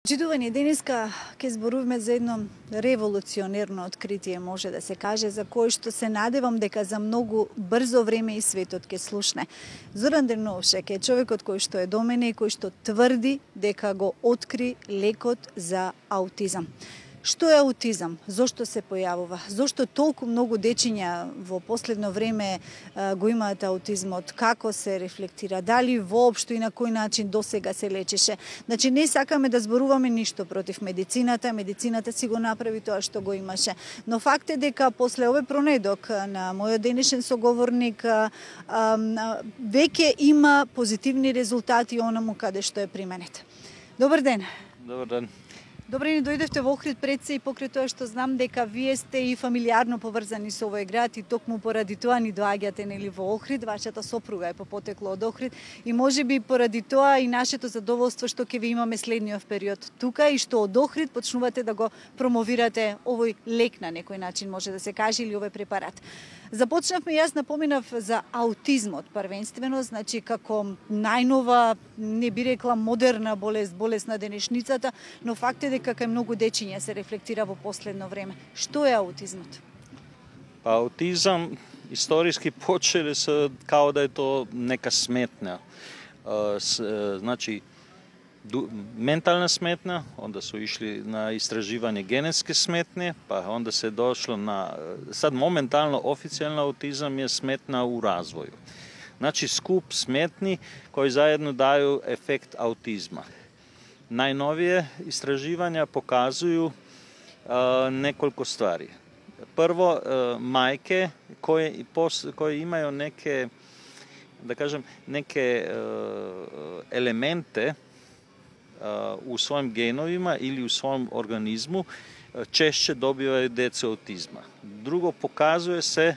Читување денеска ќе зборуваме за едно револуционерно откритие, може да се каже, за кое што се надевам дека за многу брзо време и светот ќе слушне. Зоран Дрновшек е човекот кој што е до мене и кој што тврди дека го откри лекот за аутизам. Што е аутизам? Зошто се појавува? Зошто толку многу дечиња во последно време го имаат аутизмот? Како се рефлектира? Дали воопшто и на кој начин досега се лечеше? Значи, не сакаме да зборуваме ништо против медицината. Медицината си го направи тоа што го имаше. Но факт е дека после овој пронедок на мојот денешен соговорник веќе има позитивни резултати онаму каде што е применет. Добар ден. Добар ден. Добре ни дојдевте во Охрид пред се и покрај тоа што знам дека вие сте и фамилиарно поврзани со овој град и токму поради тоа ни доаѓате нели во Охрид, вашата сопруга е по потекло од Охрид и можеби поради тоа и нашето задоволство што ќе ви имаме следниот период тука и што од Охрид почнувате да го промовирате овој лек на некој начин може да се каже или овој препарат. Започнавме, јас напоминав за аутизмот првенствено, значи како најнова, не би рекла модерна болест на денешницата, но факт е дека кај многу дечиња се рефлектира во последно време. Што е аутизмот? Аутизам историски почеле со као да е то нека сметна. Значи ментална сметна, онда се ишли на истраживање генетски сметни, па онда се дошло на сад моментално официјално аутизам е сметна у развоју. Значи скуп сметни кои заедно дају ефект аутизма. Најновие истраживања показују неколку ствари. Прво, мајке кои имају неке, да кажем, неке елементе у својим геновима или у својом организму чешće добивају деца аутизма. Друго, показуе се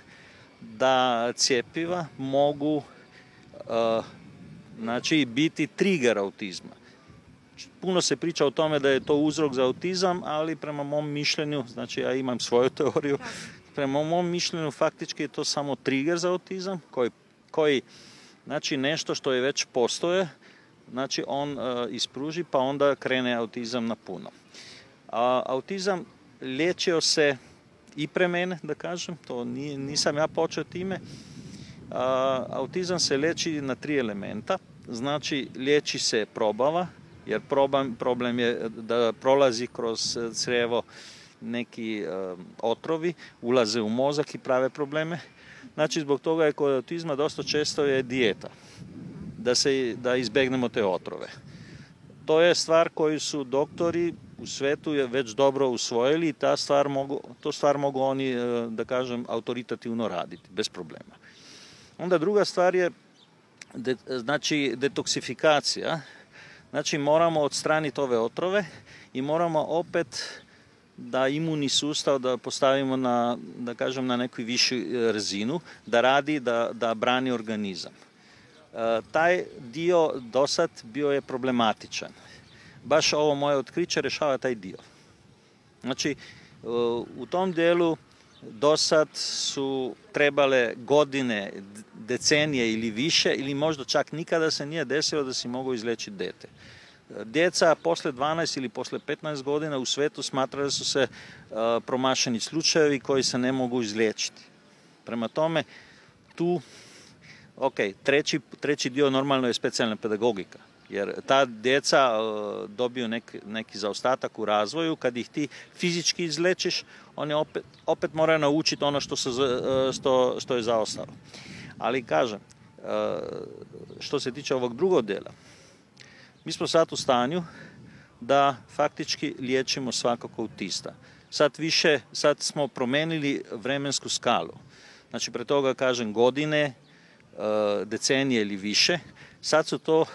да цјепива могу значи бити тригер аутизма. Puno se priča o tome da je to uzrok za autizam, ali prema mom mišljenju, znači ja imam svoju teoriju, prema mom mišljenju faktički je to samo trigger za autizam koji znači nešto što je već postoje, znači on ispruži pa onda krene autizam na puno. Autizam liječio se i pre mene, da kažem, to nisam ja počeo time. Autizam se liječi na 3 elementa, znači liječi se probava, jer problem je da prolazi kroz crevo neki otrovi, ulaze u mozak i prave probleme. Znači zbog toga je kod autizma dosta često je dijeta, da izbegnemo te otrove. To je stvar koju su doktori u svetu je već dobro usvojili i to stvar mogu oni, da kažem, autoritativno raditi, bez problema. Onda druga stvar je znači detoksifikacija. Znači moramo odstraniti ove otrove i moramo opet da imunni sustav da postavimo na, da kažem, na neku višu razinu, da radi, da brani organizam. Taj dio dosad bio je problematičan. Baš ovo moje otkriće rešava taj dio. Znači u tom dijelu dosad su trebale godine, decenije ili više, ili možda čak nikada se nije desilo da si mogu izlečiti dete. Djeca posle 12 ili posle 15 godina u svetu smatra da su se promašeni slučajevi koji se ne mogu izliječiti. Prema tome, tu, treći dio normalno je specijalna pedagogika. Jer ta djeca dobiju neki zaostatak u razvoju, kad ih ti fizički izlečiš, oni opet moraju naučiti ono što je zaostalo. Ali kažem, što se tiče ovog drugog dela, mi smo sad u stanju da faktički liječimo svakog autista. Sad smo promenili vremensku skalu. Znači, pre toga kažem godine, decenije ili više, sad su to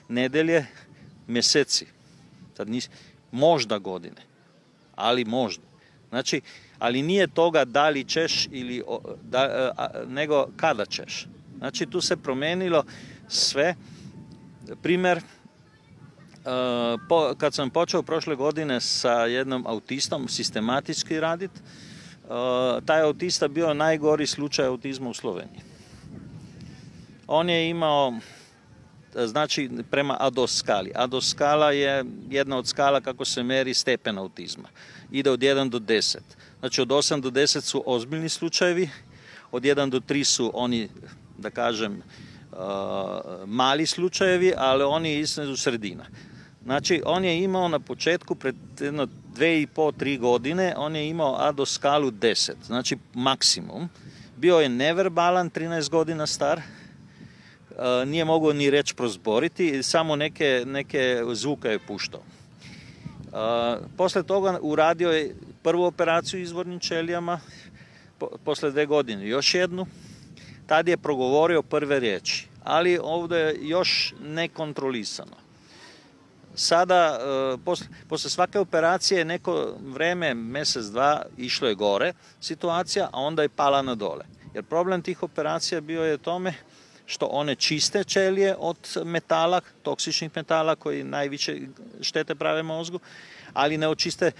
nedelje, mjeseci, sad možda godine, ali možda. Znači, ali nije toga da li ćeš ili nego kada ćeš. Znači, tu se promenilo sve. Primer, kad sam počeo prošle godine sa jednom autistom sistematički raditi, taj autista bio najgori slučaj autizma u Sloveniji. On je imao znači prema ADOS skali. ADOS skala je jedna od skala kako se meri stepen autizma. Ide od 1 do 10. Znači od 8 do 10 su ozbiljni slučajevi, od 1 do 3 su oni, da kažem, mali slučajevi, ali oni između sredina. Znači on je imao na početku, pred jedno 2,5-3 godine, on je imao ADOS skalu 10, znači maksimum. Bio je neverbalan, 13 godina star, nije mogao ni reći prozboriti, samo neke zvuke je puštao. Posle toga uradio je prvu operaciju izvornim ćelijama, posle 2 godine još jednu. Tad je progovorio prve riječi, ali ovdje je još nekontrolisano. Sada, posle svake operacije, neko vreme, mjesec, dva, išlo je gore situacija, a onda je pala na dole. Jer problem tih operacija bio je tome što one čiste ćelije od metala, toksičnih metala koji najviše štete prave mozgu, ali ne očiste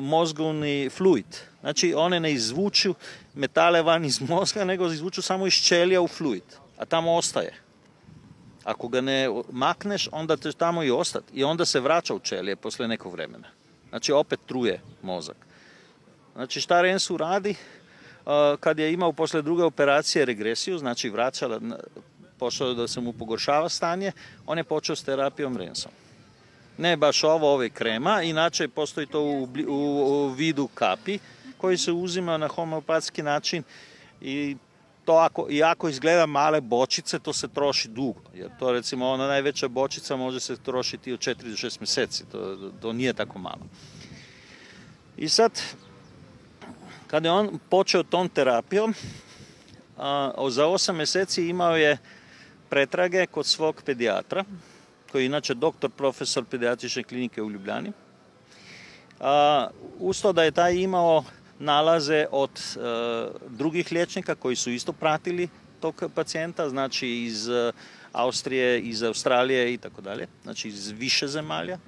mozgovni fluid. Znači one ne izvuču metale van iz mozga, nego izvuču samo iz ćelija u fluid, a tamo ostaje. Ako ga ne makneš, onda će tamo i ostati. I onda se vraća u ćelije posle nekog vremena. Znači opet truje mozak. Znači šta Rensu radi? Kad je imao posle druge operacije regresiju, znači vraćala, počeo da se mu pogoršava stanje, on je počeo s terapijom Rensom. Ne baš ove krema, inače postoji to u vidu kapi koji se uzima na homeopatski način i to ako izgleda male bočice, to se troši dugo. Jer to recimo ona najveća bočica može se trošiti od 4 do 6 mjeseci. To nije tako malo. I sad, kada je on počeo tom terapijom, za 8 mjeseci imao je pretrage kod svog pedijatra, koji je inače doktor, profesor pedijatrične klinike u Ljubljani. Usto da je taj imao nalaze od drugih liječnika koji su isto pratili tog pacijenta, znači iz Austrije, iz Australije i tako dalje, znači iz više zemalja.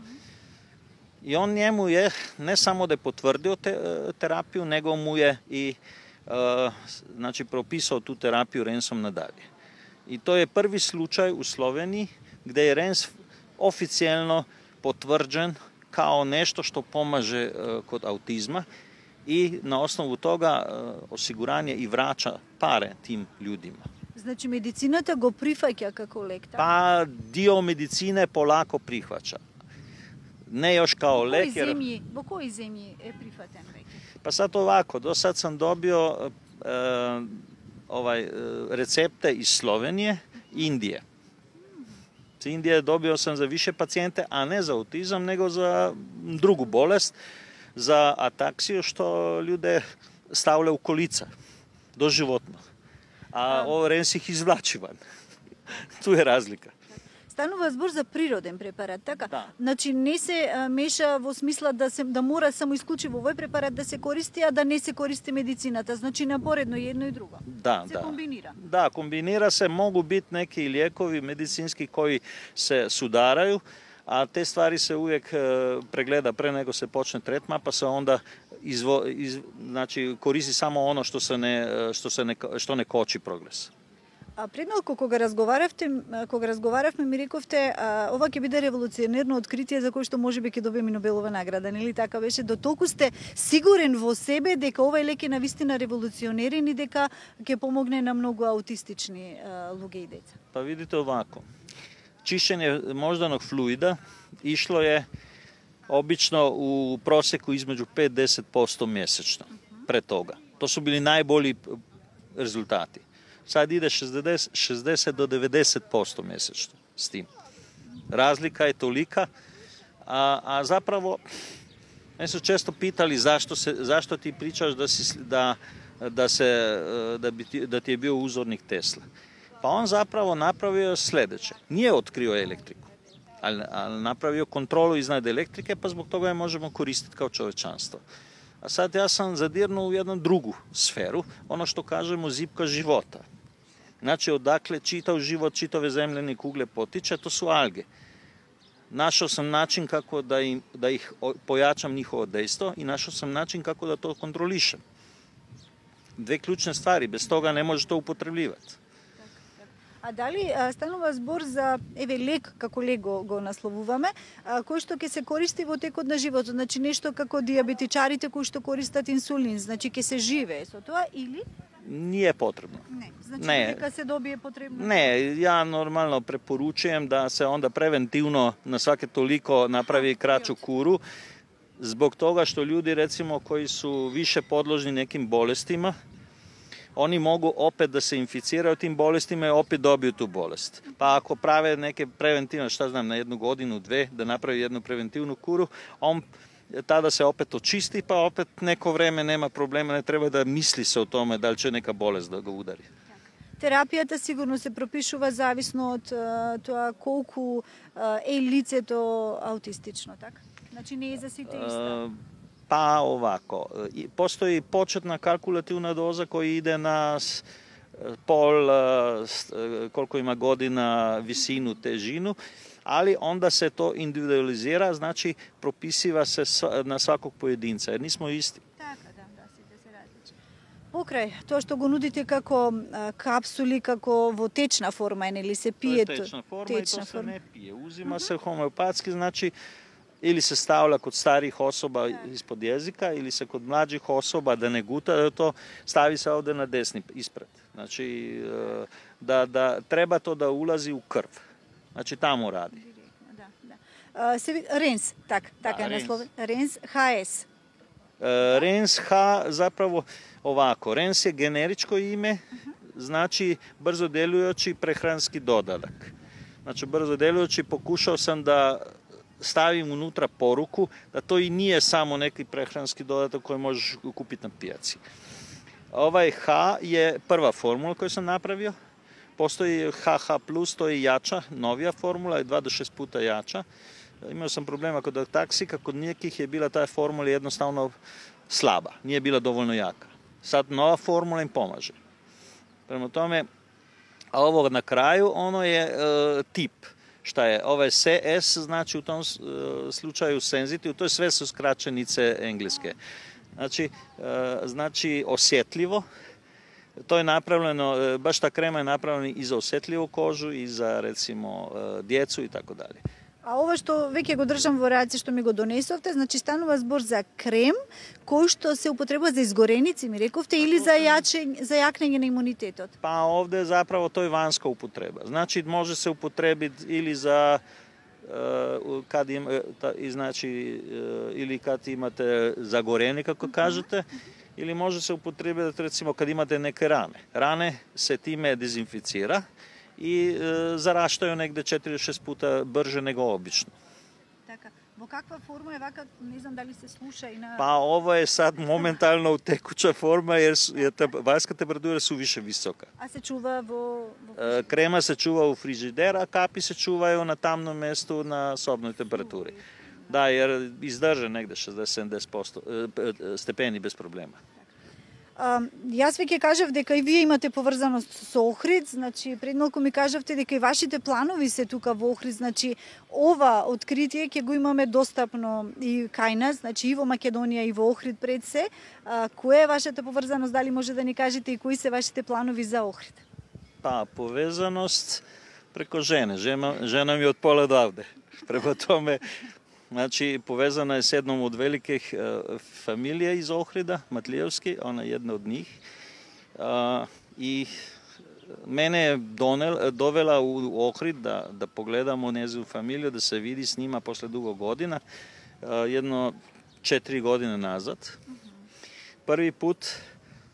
I on njemu je ne samo da je potvrdio terapiju, nego mu je i znači propisao tu terapiju Rensom nadalje. I to je prvi slučaj u Sloveniji gdje je Rens oficijelno potvrđen kao nešto što pomaže kod autizma i na osnovu toga osiguranje i vraća pare tim ljudima. Znači mediciната го прифаќа како лек? Pa dio medicine polako prihvaća. Ne još kao lek. Во кои земји е прифатен веќе? Pa sad ovako, do sad sam dobio recepte iz Slovenije, Indije. Iz Indije dobio sam za više pacijente, a ne za autizam, nego za drugu bolest, za ataksiju, što ljude stavlja u kolica, doživotno. A ovo Rens ih izvlači van. Tu je razlika. Станува збор за природен препарат, така? Да. Значи не се меша во смисла да мора само исклучиво овој препарат да се користи, а да не се користи медицината. Значи напоредно едно и друго. Да, се комбинира. Да, комбинира се, могу бити неки lijekovi медицински кои се сударају, a te stvari se uvijek pregleda pre nego se počne tretman, pa se onda znači koristi samo ono što ne koči progres. А пред малку кога разговаравме ми рековте ова ќе биде револуционерно откритие за кое што можеби ќе добиеме Нобелова награда, нели така беше? Дотолку сте сигурен во себе дека овој лек е навистина револуционерен и дека ќе помогне на многу аутистични луѓе и деца? Па видите овако. Čišćenje moždanog fluida išlo je obično u prosjeku između 5-10% mjesečno pre toga. To su bili najbolji rezultati. Sad ide 60 do 90% mjesečno s tim. Razlika je tolika, a zapravo me su često pitali zašto ti pričaš da ti je bio uzornik Tesla. Pa on zapravo napravio sljedeće. Nije otkrio elektriku, ali napravio kontrolu iznad elektrike, pa zbog toga je možemo koristiti kao čovečanstvo. A sad ja sam zadirnuo u jednu drugu sferu, ono što kažemo zipka života. Znači odakle čitav život, čitave zemljene kugle potiče, to su alge. Našao sam način kako da ih pojačam njihovo dejstvo i našao sam način kako da to kontrolišem. Dve ključne stvari, bez toga ne možeš to upotrebljivati. А дали станува збор за лек, како лек го насловуваме, кој што ќе се користи во текот на животот, значи нешто како диабетичарите кои што користат инсулин, значи ќе се живее со тоа или не е потребно. Не, значи дека се добие потребно. Не, ја нормално препоручувам да се онда превентивно на сваке толико направи крачу куру, због тога што луѓе рецимо кои су више подложни неким болестима, они могу опет да се инфицираат тим болестима и опет добијат ту болест. Па ако праве неке превентивно, што знам, на 1 годину, 2, да направи едну превентивну куру, он тада се опет очисти, па опет неко време нема проблема, не треба да мисли се о томе дали ќе нека болест да го удари. Терапијата сигурно се пропишува зависно од тоа колку е лицето аутистично, така? Значи не е за сите иста. Па овако, постои почетна калкулативна доза која иде на пол, колку има година, висину, тежину, али онда се то индивидуализира, значи прописива се на сваког поединца, jer nismo isti. Така, да, сите се различни. Покрај тоа што го нудите како капсули, како во течна форма, нели се пие? Тоа е течна форма и тоа се не пие. Узима се хомеопатски, значи или се ставлja kod starih osoba ispod jezika, ili se kod mlađih osoba da ne guta, to stavi se ovde na desni ispred. Znači, da treba to da ulazi u krv. Znači, tamo radi. RENS, така е насловен. RENS HS. RENS H zapravo ovako. RENS je generičko ime, znači brzo delujući prehranski dodatak. Znači, brzo delujući pokušao sam da stavim unutra poruku da to i nije samo neki prehranski dodatak koji možeš kupiti na pijaci. Ovaj H je prva formula koju sam napravio. Postoji HH+, to je jača, novija formula, je 2 do 6 puta jača. Imao sam problema kod taksika, kod nekih je bila ta formula jednostavno slaba, nije bila dovoljno jaka. Sad nova formula im pomaže. Prema tome, a ovo na kraju, ono je tip. Šta je? Ovaj CS znači u tom slučaju senzitiv, to je sve su skraćenice engleske. Znači osjetljivo. To je napravljeno, baš ta krema je napravljena i za osjetljivu kožu i za recimo djecu i tako dalje. A ovo što веќе го држам во раце што ми го донесовте, значи станува збор за крем кој што се употребува за изгореници, ми рековте, или за јакнење на имунитетот? Па овде заправо тој ванска употреба. Значи може се употребити или за кад има, значи или кад имате загорени како кажете, или може се употребити рецимо кад имате неке ране. Ране се тиме дезинфицира и зараштају негде 4-6 puta брже него обично. Така. Во каква форма е вака, не знам дали се слуша и на... Па ово е сад моментално у текуча форма, јер ванска температура су више висока. А се чува во... Крема се чува у фрижидер, а капи се чувају на тамно место на собној температури. Да, јер издржа негде 60-70% степени без проблема. Јас веќе кажав дека и вие имате поврзаност со Охрид, значи пред малку ми кажавте дека и вашите планови се тука во Охрид, значи ова откритие ќе го имаме достапно и кај нас, значи и во Македонија и во Охрид пред се. Која е вашата поврзаност, дали може да ни кажете и кои се вашите планови за Охрид? Па, повезаност преко жене. Жена ми од пола давде. Према томе, значи, повезана е с едном од великих фамилија из Охрида, Матлиевски, она е една од нив. И мене е довела у Охрид да погледам о незину фамилија, да се види с нима после дуго година, едно 4 години назад. Први пут,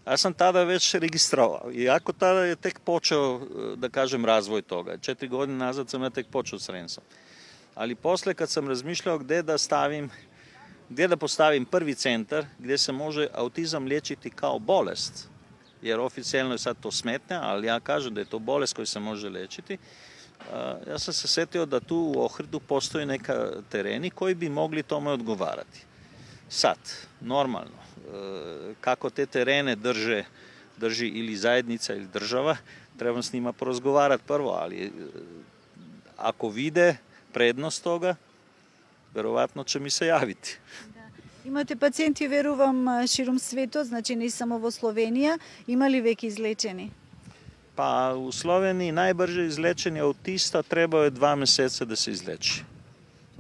аз сам тада веќе регистровал, иако тада е тек почел, да кажем, развој тога. 4 години назад сам тек почел с Ренсом. Ali posle kad sam razmišljao gde da postavim prvi centar gdje se može autizam liječiti kao bolest, jer oficijalno je sad to smetnja, ali ja kažem da je to bolest koju se može liječiti, ja sam se setio da tu u Ohridu postoji neka tereni koji bi mogli tome odgovarati. Sad, normalno, kako te terene drži ili zajednica ili država, trebam s njima porazgovarati prvo, ali ako vide предност тога, веројатно ќе ми се јавите. Да. Имате пациенти, верувам, широм светот, значи не само во Словенија. Има ли веќе излечени? Па у Словенiji најбрже излечени аутиста треба 2 месеца да се излечи.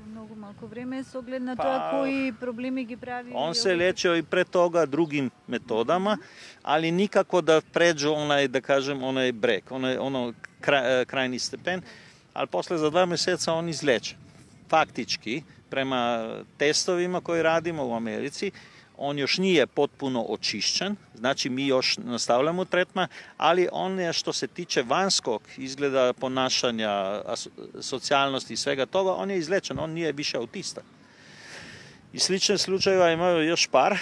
Многу малку време со оглед на тоа кои проблеми ги прави. Он се лечео и пред тога другим методама, али никако да преđe онај, да кажем, онај брег, оно крајни степен, ali после за 2 месеца он излечен. Фактички, према тестовима кои радимо у Америци, on još nije potpuno očišćen, znači mi još nastavljamo tretman, ali on je što se tiče vanjskog izgleda ponašanja, socijalnosti i svega toga, on je izlečen, on nije više autista. I slične slučajeva imaju još par.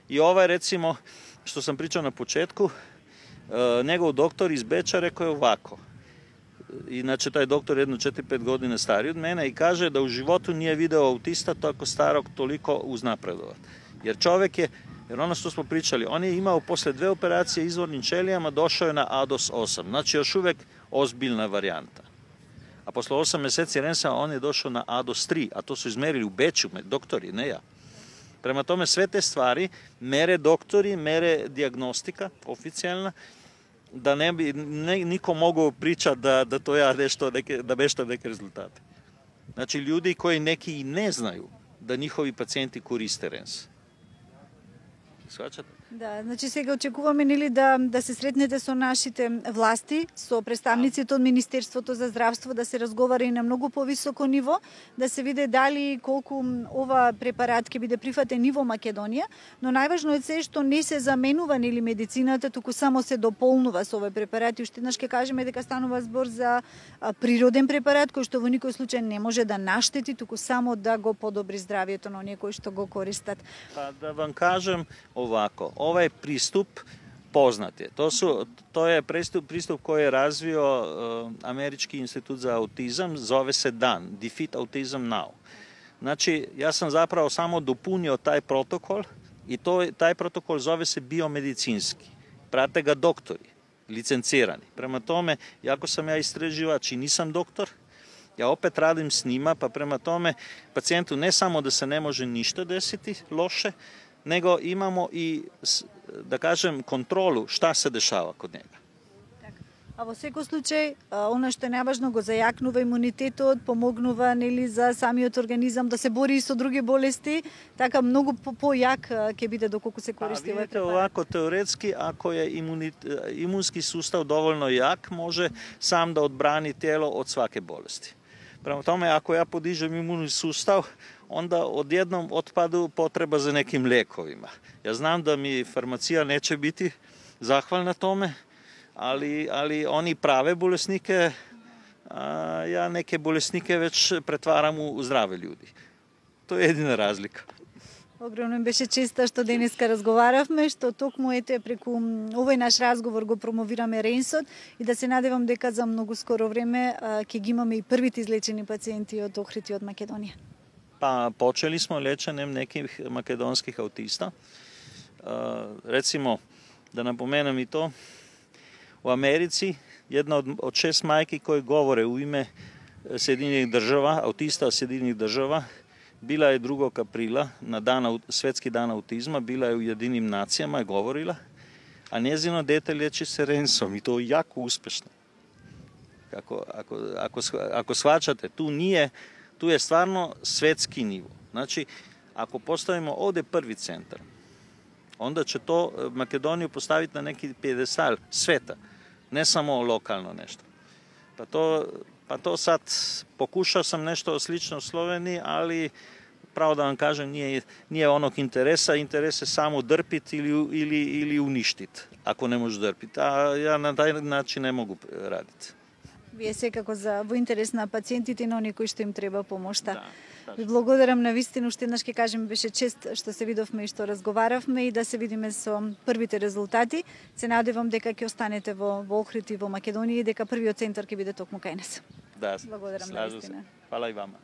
I ovaj, recimo, što sam pričao na početku, njegov doktor iz Beča rekao je ovako. Inače, taj doktor je jedno 4-5 godine stariji od mene i kaže da u životu nije video autista tako starog toliko uznapredovat. Jer čovjek je, jer ono što smo pričali, on je imao posle 2 operacije izvornim ćelijama, došao je na ADOS 8, znači još uvijek ozbiljna varijanta. A posle 8 meseci rensa on je došao na ADOS 3, a to su izmerili u Beču, doktori, ne ja. Prema tome sve te stvari mere doktori, mere dijagnostika oficijalna, da ne bi niko mogao pričati da to ja da beštam neke rezultate. Znači ljudi koji neki i ne znaju da njihovi pacijenti koriste RENS. Shvaćate? Да, значи сега очекуваме нели да се сретнете со нашите власти, со представниците од Министерството за здравство, да се разговара и на многу повисоко ниво, да се види дали колку ова препарат ќе биде прифатен и во Македонија, но најважно е се што не се заменува нели медицината, туку само се дополнува со овој препарат. И уште еднаш ќе кажеме дека станува збор за природен препарат кој што во никој случај не може да наштети, туку само да го подобри здравието на оние кои што го користат. Па да вам кажем овако, ovaj pristup poznat je. To je pristup koji je razvio Američki institut za autizam, zove se DAN, Defeat Autism Now. Znači, ja sam zapravo samo dopunio taj protokol i taj protokol zove se biomedicinski. Prate ga doktori, licencirani. Prema tome, jako sam ja istraživač i nisam doktor, ja opet radim s njima, pa prema tome pacijentu ne samo da se ne može ništa desiti loše, nego imamo i, da kažem, kontrolu šta se dešava kod njega. А во секој случај, она што е најважно го зајакнува имунитетот, помогнува нели за самиот организам да се бори и со други болести, така многу појак ќе биде доколку се користи овој препарат. Овако теоретски, ако е имунски сустав доволно јак, може сам да одбрани тело од сваке болести. Према томе, ако ја подижам имунни сустав, onda odjednom otpadu potreba za nekim lekovima. Ja znam da mi farmacija neće biti zahvalna tome, ali oni prave bolesnike, ja neke bolesnike već pretvaram u zdrave ljudi. To je jedina razlika. Огромно беше честа што денеска разговаравме, што токму ете преку овој наш разговор го промовираме ренсот и да се надевам дека за многу скоро време ќе ги имаме и првите излечени пациенти од Охрид и од Македонија. Pa počeli smo liječenjem nekih makedonskih autista. Recimo, da napomenem i to, u Americi jedna od 6 majki koje govore u ime Sjedinjenih država, autista Sjedinjenih država, bila je 2. aprila na Svetski dan autizma, bila je u Jedinim nacijama i govorila, a njezino dete liječi se rensom i to jako uspešno. Ako shvaćate, tu je stvarno svetski nivo. Znači, ako postavimo ovdje prvi centar, onda će to Makedoniju postaviti na neki pijedestal sveta, ne samo lokalno nešto. Pa to sad, pokušao sam nešto slično u Sloveniji, ali pravo da vam kažem, nije onog interesa. Interes je samo drpiti ili uništiti, ako ne možeš drpiti. A ja na taj način ne mogu raditi. Вие секако во интерес на пациентите и на оние кои што им треба помошта. Ви благодарам на вистина, уште еднаш ќе кажем, беше чест што се видовме и што разговаравме и да се видиме со првите резултати. Се надевам дека ќе останете во Охрид и во Македонија и дека првиот центар ќе биде токму кај нас. Да, благодарам на вистина. Фала и вама.